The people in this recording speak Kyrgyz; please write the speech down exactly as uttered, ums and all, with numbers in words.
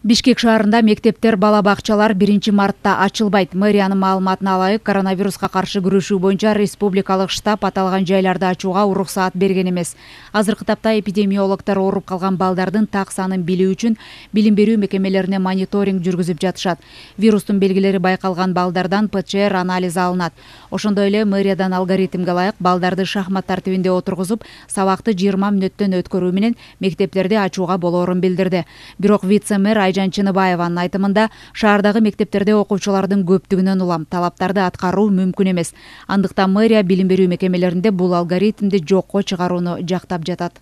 Бишкек шаарында мектептер, бала бакчалар биринчи мартта ачылбайт. Мэриянын маалыматына ылайык, коронавируска каршы күрөшүү боюнча республикалык штаб аталган жайларды ачууга уруксаат берген эмес. Азыркы тапта эпидемиологдор ооруп калган балдардын так санын билүү үчүн билим берүү мекемелерине мониторинг жүргүзүп жатышат. Вирустун белгилери байкалган балдардан ПЧР анализи алынат. Ошондой эле мэриядан алгоритмге ылайык балдарды шахмат тартибинде отургузуп, сабакты жыйырма мүнөттөн өткөрүү менен мектептерди ачууга болоорун билдирди. Бирок вице-мэр Айжан Чыныбаеванын айтымында, шаардагы мектептерде окуучулардын көптүгүнөн улам талаптарды аткаруу мүмкүн эмес. Андыктан мэрия билим берүү мекемелеринде бул алгоритмди жокко чыгарууну жактап жатат.